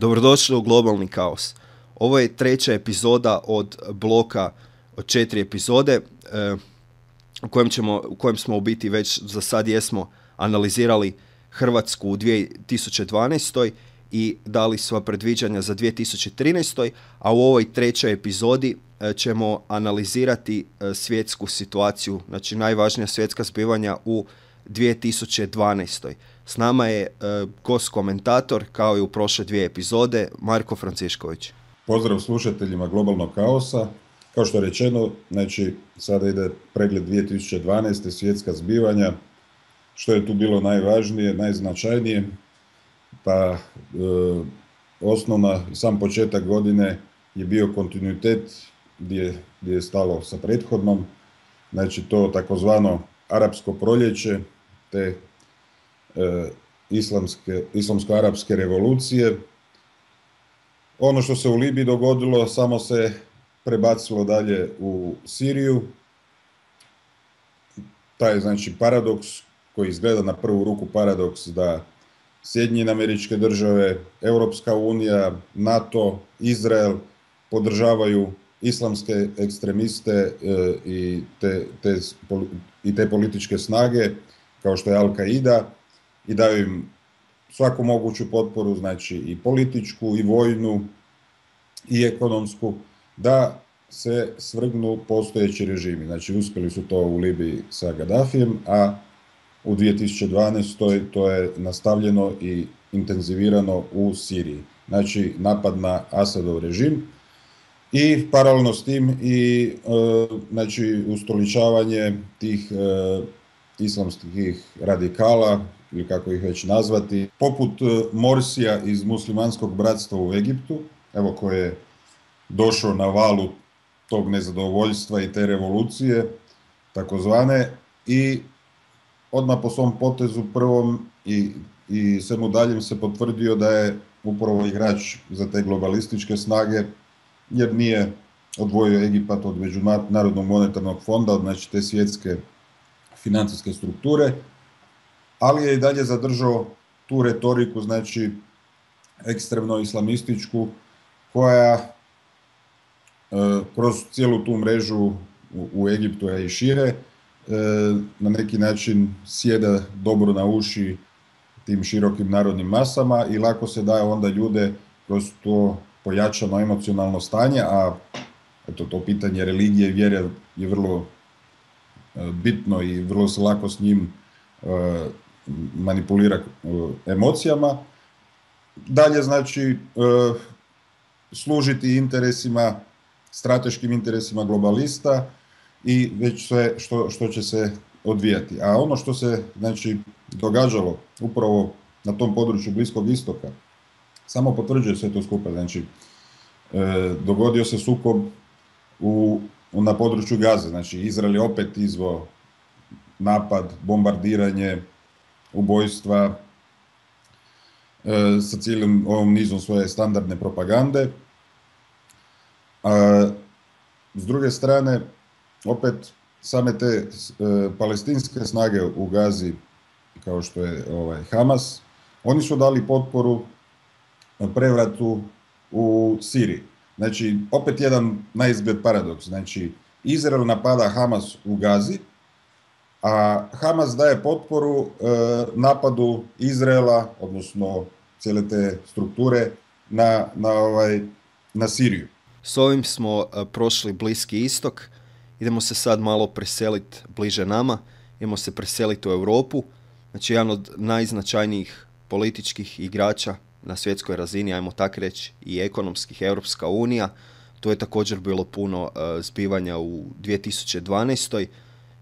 Dobrodošli u Globalni kaos. Ovo je treća epizoda od bloka od 4 epizode u kojem smo u biti već za sad jesmo analizirali Hrvatsku u 2012. i dali sva predviđanja za 2013. A u ovoj trećoj epizodi ćemo analizirati svjetsku situaciju, znači najvažnija svjetska zbivanja u 2012. S nama je gost komentator, kao i u prošle dvije epizode, Marko Francišković. Pozdrav slušateljima Globalnog kaosa. Kao što je rečeno, znači sada ide pregled 2012. svjetska zbivanja. Što je tu bilo najvažnije, najznačajnije? Pa osnovna, sam početak godine je bio kontinuitet gdje je stalo sa prethodnom. Znači to takozvano arapsko proljeće, te islamsko-arapske revolucije. Ono što se u Libiji dogodilo samo se prebacilo dalje u Siriju. Taj znači paradoks koji izgleda na prvu ruku paradoks da Sjedinjene Američke Države, Europska unija, NATO, Izrael podržavaju islamske ekstremiste i te političke snage kao što je Al-Qaida i daju im svaku moguću potporu, znači i političku, i vojnu, i ekonomsku, da se svrgnu postojeći režimi. Znači uspjeli su to u Libiji sa Gaddafijem, a u 2012. to je nastavljeno i intenzivirano u Siriji. Znači napad na Asadov režim i paralelno s tim i znači ustoličavanje tih islamskih radikala, ili kako ih već nazvati, poput Morsija iz muslimanskog bratstva u Egiptu, evo koji je došao na valu tog nezadovoljstva i te revolucije, takozvane, i odmah po svom potezu prvom i svemu daljem se potvrdio da je upravo igrač za te globalističke snage, jer nije odvojio Egipat od Međunarodnog monetarnog fonda, znači te svjetske financijske strukture, ali je i dalje zadržao tu retoriku, znači ekstremno islamističku, koja kroz cijelu tu mrežu u Egiptu i šire na neki način sjeda dobro na uši tim širokim narodnim masama i lako se daje onda ljude kroz to pojačano emocionalno stanje, a eto, to pitanje religije i vjere je vrlo bitno i vrlo se lako s njim manipulira emocijama. Dalje znači služiti interesima, strateškim interesima globalista i već sve što će se odvijati. A ono što se znači događalo upravo na tom području Bliskog istoka samo potvrđuje sve to skupa. Znači dogodio se sukob na području Gaze, znači Izrael je opet izveo napad, bombardiranje, ubojstva sa cijelim ovom nizom svoje standardne propagande. S druge strane, opet same te palestinske snage u Gazi, kao što je Hamas, oni su dali potporu prevratu u Siriji. Znači, opet jedan naizgled paradoks. Znači, Izrael napada Hamas u Gazi, a Hamas daje potporu napadu Izraela, odnosno cijele te strukture, na Siriju. S ovim smo prošli Bliski istok. Idemo se sad malo preseliti bliže nama. Idemo se preseliti u Europu. Znači, jedan od najznačajnijih političkih igrača na svjetskoj razini, ajmo tak reći, i ekonomskih, Europska unija. To je također bilo puno zbivanja u 2012.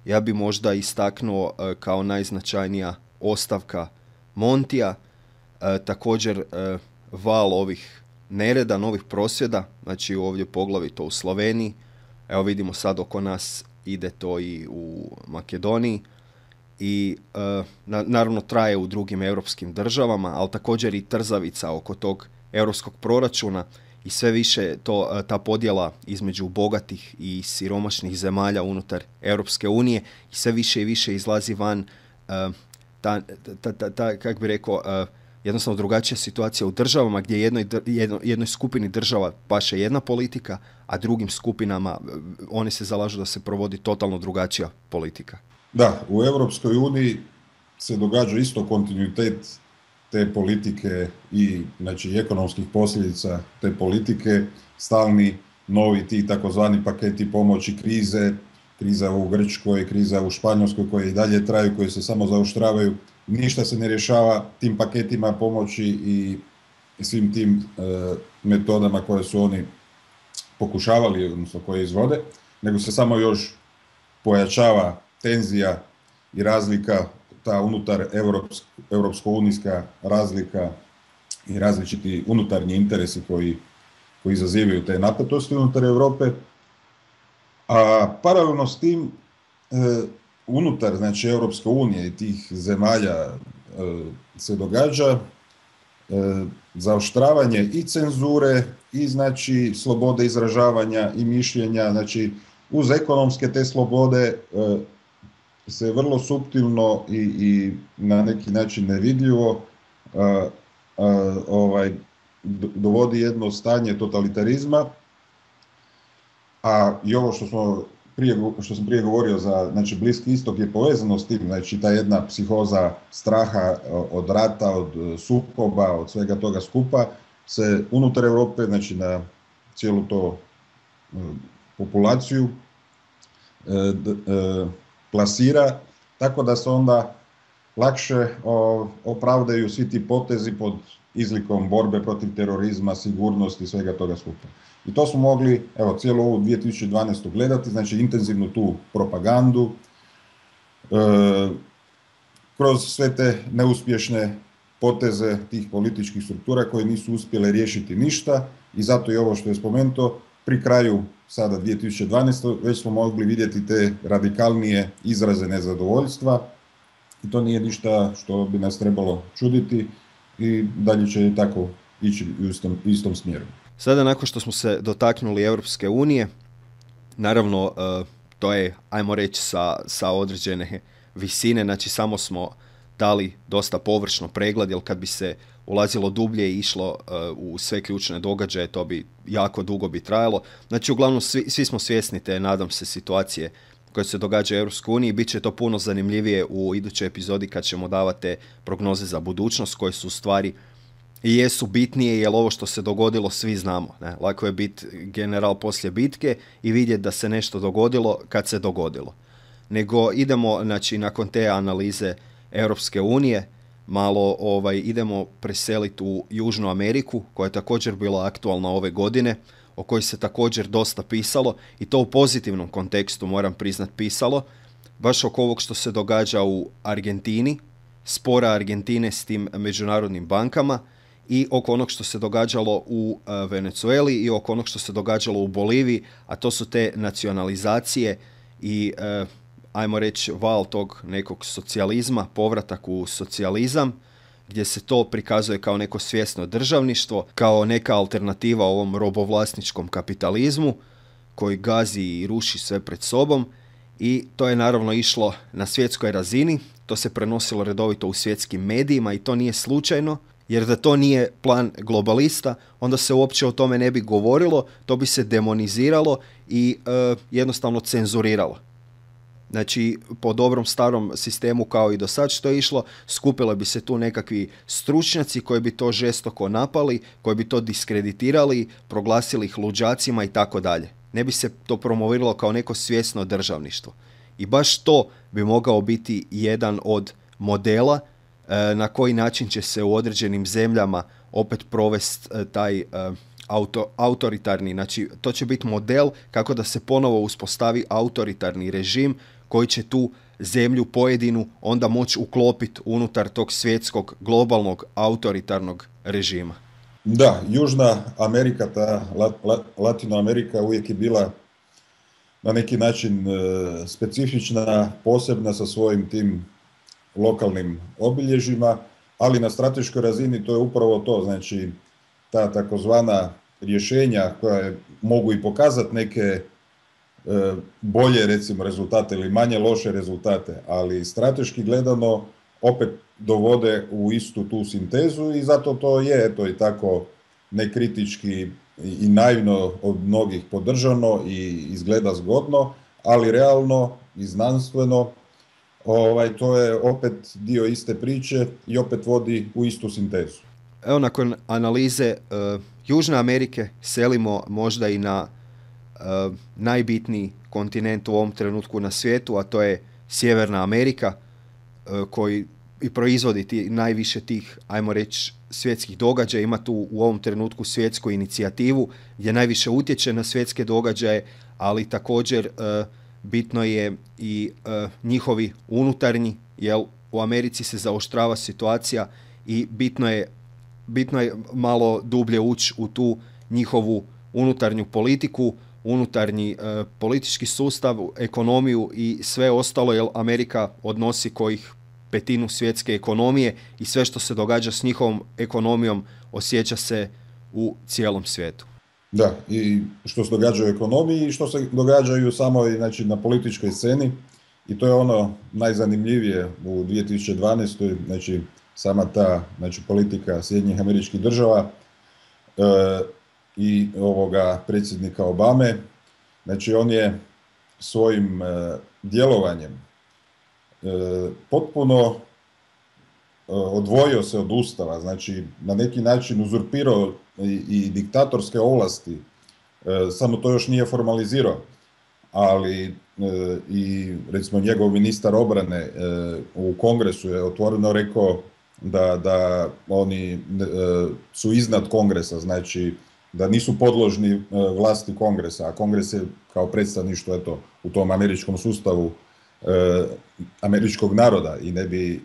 Ja bi možda istaknuo kao najznačajnija ostavka Montija, također val ovih nereda, novih prosvjeda, znači ovdje poglavito u Sloveniji. Evo vidimo sad oko nas ide to i u Makedoniji i naravno traje u drugim europskim državama, ali također i trzavica oko tog europskog proračuna i sve više ta podjela između bogatih i siromašnih zemalja unutar Europske unije i sve više i više izlazi van kako bi rekao, jednostavno drugačija situacija u državama gdje jednoj skupini država paše jedna politika, a drugim skupinama oni se zalažu da se provodi totalno drugačija politika. Da, u Europskoj uniji se događa isto kontinuitet te politike i znači, ekonomskih posljedica te politike, stalni novi ti takozvani paketi pomoći kriza u Grčkoj, kriza u Španjolskoj koje i dalje traju, koje se samo zaoštravaju. Ništa se ne rješava tim paketima pomoći i svim tim metodama koje su oni pokušavali, odnosno koje izvode, nego se samo još pojačava tenzija i razlika, ta unutar europsko-unijska razlika i različiti unutarnji interesi koji izazivaju te napetosti unutar Europe. A paralelno s tim, unutar znači, Europske unije i tih zemalja se događa zaoštravanje i cenzure i znači slobode izražavanja i mišljenja, znači uz ekonomske te slobode se vrlo suptilno i na neki način nevidljivo dovodi jedno stanje totalitarizma, a i ovo što sam prije govorio za znači, Bliski istok je povezano s tim, znači ta jedna psihoza straha od rata, od sukoba, od svega toga skupa se unutar Europe, znači na cijelu to populaciju plasira, tako da se onda lakše opravdaju svi ti potezi pod izlikom borbe protiv terorizma, sigurnosti i svega toga skupa. I to smo mogli, evo, cijelu ovu 2012. gledati, znači intenzivnu tu propagandu, kroz sve te neuspješne poteze tih političkih struktura koje nisu uspjele riješiti ništa i zato i ovo što je spomenuto, pri kraju sada 2012. već smo mogli vidjeti te radikalnije izraze nezadovoljstva i to nije ništa što bi nas trebalo čuditi i dalje će tako ići u istom smjeru. Sada nakon što smo se dotaknuli Europske unije, naravno to je, ajmo reći, sa određene visine, znači samo smo dali dosta površno pregled, jer kad bi se ulazilo dublje i išlo u sve ključne događaje, to bi jako dugo bi trajalo. Znači uglavnom svi smo svjesni te, nadam se, situacije koje se događa u Europskoj uniji. Biće to puno zanimljivije u idućoj epizodi kad ćemo davati te prognoze za budućnost koje su u stvari i jesu bitnije, jer ovo što se dogodilo svi znamo. Ne? Lako je biti general poslije bitke i vidjeti da se nešto dogodilo kad se dogodilo. Nego idemo, znači, nakon te analize Europske unije, malo idemo preseliti u Južnu Ameriku, koja je također bila aktualna ove godine, o kojoj se također dosta pisalo, i to u pozitivnom kontekstu, moram priznat, pisalo, baš oko ovog što se događa u Argentini, spora Argentine s tim međunarodnim bankama, i oko onog što se događalo u Venezueli i oko onog što se događalo u Boliviji, a to su te nacionalizacije i ajmo reći val tog nekog socijalizma, povratak u socijalizam, gdje se to prikazuje kao neko svjesno državništvo, kao neka alternativa ovom robovlasničkom kapitalizmu koji gazi i ruši sve pred sobom, i to je naravno išlo na svjetskoj razini, to se prenosilo redovito u svjetskim medijima i to nije slučajno, jer da to nije plan globalista, onda se uopće o tome ne bi govorilo, to bi se demoniziralo i jednostavno cenzuriralo. Znači, po dobrom starom sistemu kao i do sad što je išlo, skupile bi se tu nekakvi stručnjaci koji bi to žestoko napali, koji bi to diskreditirali, proglasili ih luđacima i tako dalje. Ne bi se to promoviralo kao neko svjesno državništvo. I baš to bi mogao biti jedan od modela na koji način će se u određenim zemljama opet provesti taj autoritarni, znači to će biti model kako da se ponovo uspostavi autoritarni režim koji će tu zemlju pojedinu onda moći uklopiti unutar tog svjetskog globalnog autoritarnog režima. Da, Južna Amerika, ta Latinoamerika uvijek je bila na neki način specifična, posebna sa svojim tim lokalnim obilježjima, ali na strateškoj razini to je upravo to, znači ta takozvana rješenja koja mogu i pokazati neke bolje, recimo, rezultate ili manje loše rezultate, ali strateški gledano opet dovode u istu tu sintezu i zato to je eto i tako nekritički i naivno od mnogih podržano i izgleda zgodno, ali realno i znanstveno to je opet dio iste priče i opet vodi u istu sintezu. Evo, nakon analize Južne Amerike selimo možda i na najbitniji kontinent u ovom trenutku na svijetu, a to je Sjeverna Amerika, koji i proizvodi najviše tih, ajmo reći, svjetskih događaja. Ima tu u ovom trenutku svjetsku inicijativu gdje najviše utječe na svjetske događaje, ali također bitno je i njihovi unutarnji, jer u Americi se zaoštrava situacija i bitno je malo dublje ući u tu njihovu unutarnju politiku, unutarnji politički sustav, ekonomiju i sve ostalo, jer Amerika odnosi kojih 1/5 svjetske ekonomije i sve što se događa s njihovom ekonomijom osjeća se u cijelom svijetu. Da, i što se događa u ekonomiji i što se događa i u samoj, znači, na političkoj sceni, i to je ono najzanimljivije u 2012. Znači, sama ta, znači, politika Sjedinjenih Američkih Država i ovoga predsjednika Obame. Znači, on je svojim djelovanjem potpuno odvojio se od Ustava, znači na neki način uzurpirao i diktatorske ovlasti, samo to još nije formalizirao, ali i recimo njegov ministar obrane u Kongresu je otvoreno rekao da oni su iznad Kongresa, znači da nisu podložni vlasti Kongresa, a Kongres je kao predstavništvo u tom američkom sustavu američkog naroda i ne bi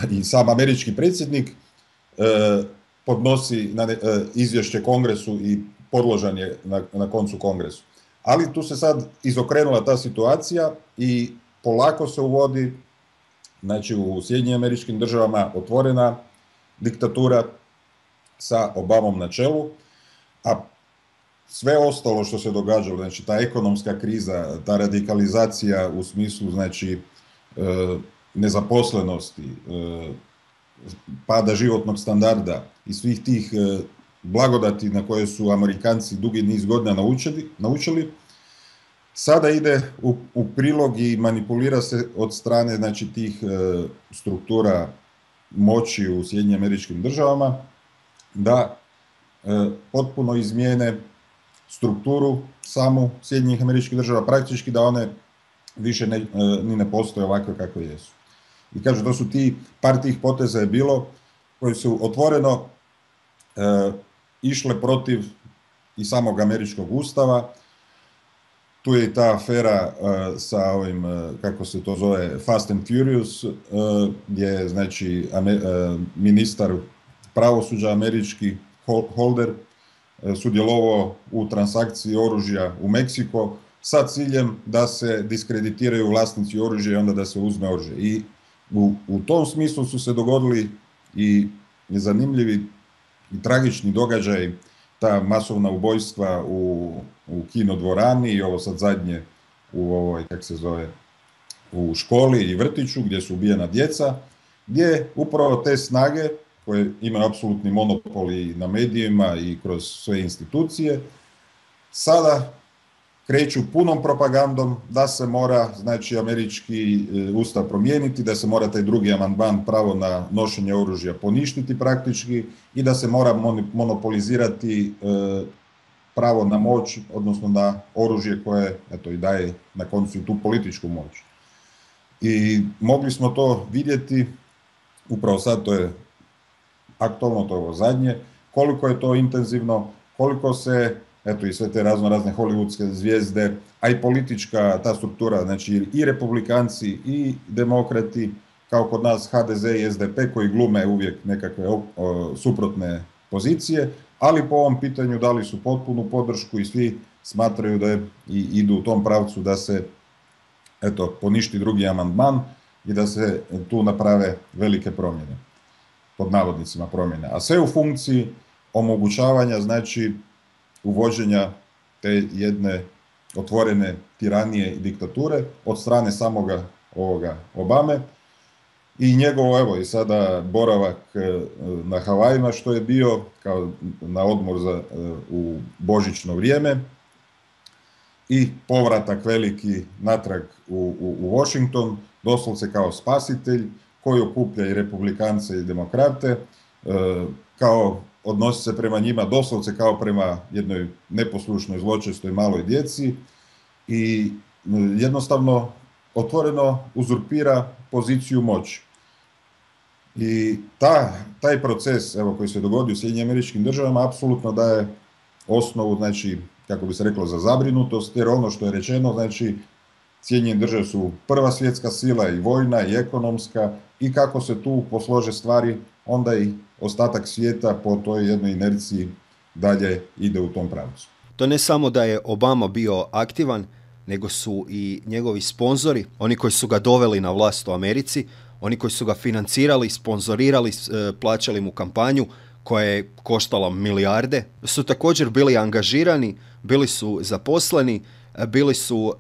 i sam američki predsjednik podnosi izvješće Kongresu i podložan je na koncu Kongresu. Ali tu se sad izokrenula ta situacija i polako se uvodi, znači, u Sjedinjenim Američkim Državama otvorena diktatura sa Obamom na čelu, a sve ostalo što se događalo, znači ta ekonomska kriza, ta radikalizacija u smislu, znači, nezaposlenosti, pada životnog standarda i svih tih blagodati na koje su Amerikanci dugi niz godina naučili, sada ide u prilog i manipulira se od strane, znači, tih struktura moći u Sjedinjenim Američkim Državama da potpuno izmijene strukturu samu Sjedinjenih Američkih Država, praktički da one više ni ne postoje ovakve kakve jesu. I kažu, to su par tih poteza je bilo koji su otvoreno išle protiv i samog američkog ustava. Tu je i ta afera sa ovim, kako se to zove, Fast and Furious, gdje je, znači, ministar pravosuđa američki Holder sudjelovao u transakciji oružja u Meksiko sa ciljem da se diskreditiraju vlasnici oružja i onda da se uzme oružje. I u tom smislu su se dogodili i zanimljivi i tragični događaj, ta masovna ubojstva u kinodvorani i ovo sad zadnje u školi i vrtiću gdje su ubijena djeca, gdje upravo te snage koje imaju apsolutni monopol i na medijima i kroz sve institucije, sada kreću punom propagandom da se mora, znači, američki ustav promijeniti, da se mora taj drugi amandman, pravo na nošenje oružja, poništiti praktički i da se mora monopolizirati pravo na moć, odnosno na oružje koje, eto, i daje na koncu i tu političku moć. I mogli smo to vidjeti, upravo sad, to je aktualno, to je ovo zadnje, koliko je to intenzivno, koliko se, eto, i sve te razne hollywoodske zvijezde, a i politička ta struktura, znači i republikanci i demokrati, kao kod nas HDZ i SDP, koji glume uvijek nekakve suprotne pozicije, ali po ovom pitanju dali su potpunu podršku i svi smatraju da idu u tom pravcu da se, eto, poništi drugi amandman i da se tu naprave velike promjene, pod navodnicima promjene, a sve u funkciji omogućavanja, znači, uvođenja te jedne otvorene tiranije i diktature od strane samoga ovoga Obame, i njegovo, evo i sada boravak na Havajima što je bio kao na odmor u božićno vrijeme i povratak veliki natrag u Washington, doslovce kao spasitelj koji okuplja i republikance i demokrate, kao odnosi se prema njima doslovce kao prema jednoj neposlušnoj, zločestoj maloj djeci i jednostavno otvoreno uzurpira poziciju moći. I taj proces, evo, koji se dogodio u Sjedinjenim Američkim Državama apsolutno daje osnovu, znači, kako bi se reklo, za zabrinutost, jer ono što je rečeno, znači, Sjedinjene Države su prva svjetska sila i vojna i ekonomska i kako se tu poslože stvari, onda i ostatak svijeta po toj jednoj inerciji dalje ide u tom pravcu. To ne samo da je Obama bio aktivan, nego su i njegovi sponzori, oni koji su ga doveli na vlast u Americi, oni koji su ga financirali, sponzorirali, plaćali mu kampanju koja je koštala milijarde, su također bili angažirani, bili su zaposleni, bili su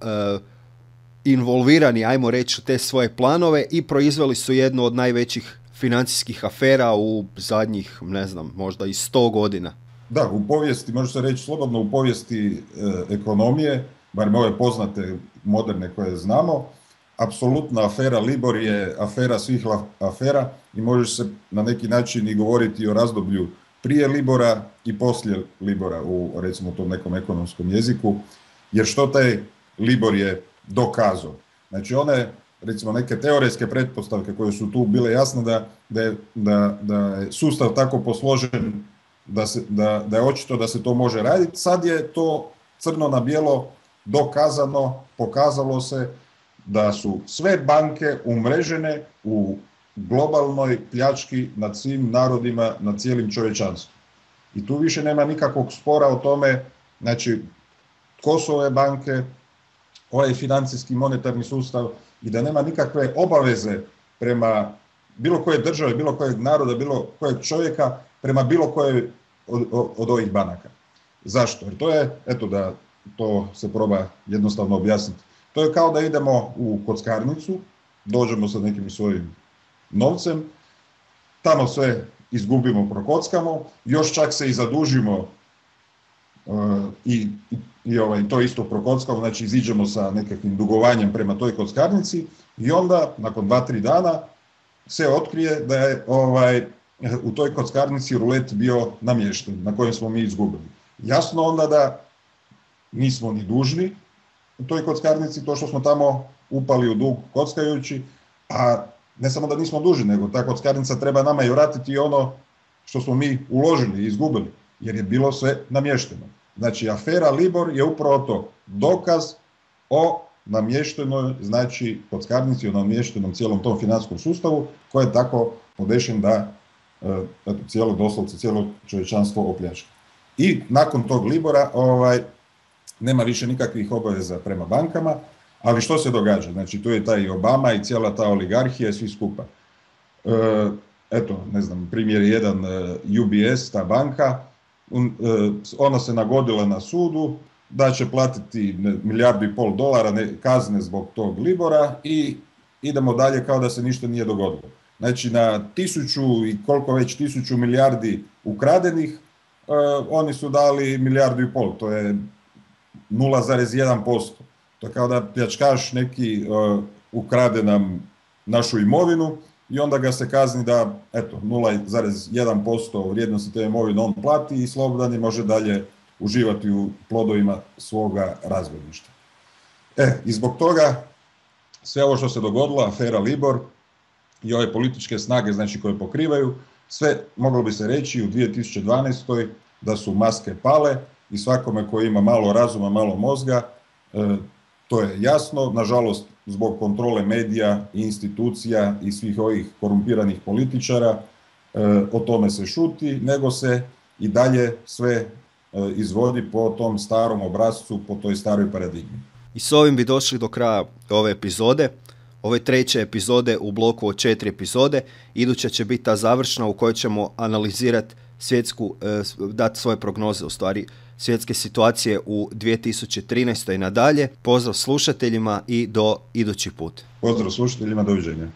involvirani, ajmo reći, u te svoje planove i proizveli su jednu od najvećih financijskih afera u zadnjih, ne znam, možda i 100 godina. Da, u povijesti, može se reći slobodno, u povijesti ekonomije, barem ove poznate moderne koje znamo, apsolutna afera Libor je afera svih afera i može se na neki način i govoriti o razdoblju prije Libora i poslije Libora u, recimo, tom nekom ekonomskom jeziku, jer što taj Libor je dokazao. Znači one, recimo, neke teoretske pretpostavke koje su tu bile jasne da je sustav tako posložen da je očito da se to može raditi, sad je to crno na bijelo dokazano, pokazalo se da su sve banke umrežene u globalnoj pljački nad svim narodima, nad cijelim čovječanstvom. I tu više nema nikakvog spora o tome, znači, tko su ove banke, ovaj financijski monetarni sustav i da nema nikakve obaveze prema bilo koje države, bilo kojeg naroda, bilo kojeg čovjeka, prema bilo kojoj od ovih banaka. Zašto? Jer to je, eto da to se proba jednostavno objasniti. To je kao da idemo u kockarnicu, dođemo sa nekim svojim novcem, tamo sve izgubimo, prokockamo, još čak se i zadužimo i to isto prokockamo, znači iziđemo sa nekakvim dugovanjem prema toj kockarnici i onda nakon 2-3 dana se otkrije da je u toj kockarnici rulet bio namješten na kojem smo mi izgubili. Jasno onda da nismo ni dužni u toj kockarnici to što smo tamo upali u dug kockajući, a ne samo da nismo dužni, nego ta kockarnica treba nama i vratiti ono što smo mi uložili i izgubili, jer je bilo sve namješteno. Znači, afera Libor je upravo to, dokaz o namještenoj, znači, kockarnici, o namještenom cijelom tom financijskom sustavu, koji je tako podešen da doslovce cijelo čovječanstvo opljačka. I nakon tog Libora nema više nikakvih obaveza prema bankama, ali što se događa? Znači, tu je taj Obama i cijela ta oligarhija i svi skupa. Eto, ne znam, primjer jedan, UBS, ta banka, ona se nagodila na sudu da će platiti $1,5 milijardu kazne zbog tog Libora i idemo dalje kao da se ništa nije dogodilo. Znači, na 1000 i koliko već 1000 milijardi ukradenih, oni su dali $1,5 milijardu, to je 0,1%. To je kao da pljačkaš neki ukrade nam našu imovinu i onda ga se kazni da, eto, 0,1% vrijednosti te imovine on plati i slobodan je može dalje uživati u plodovima svoga razbojništva. I zbog toga sve ovo što se dogodilo, afera Libor i ove političke snage, znači, koje pokrivaju, sve moglo bi se reći u 2012. da su maske pale i svakome koji ima malo razuma, malo mozga, to je jasno. Nažalost, zbog kontrole medija i institucija i svih ovih korumpiranih političara, o tome se šuti, nego se i dalje sve izvodi po tom starom obrascu, po toj staroj paradigmi. I s ovim bi došli do kraja ove epizode. Ove 3. epizode u bloku od 4 epizode. Iduća će biti ta završna u kojoj ćemo analizirati dati svoje prognoze, u stvari, svjetske situacije u 2013. i nadalje. Pozdrav slušateljima i do idući put. Pozdrav slušateljima, doviđenja.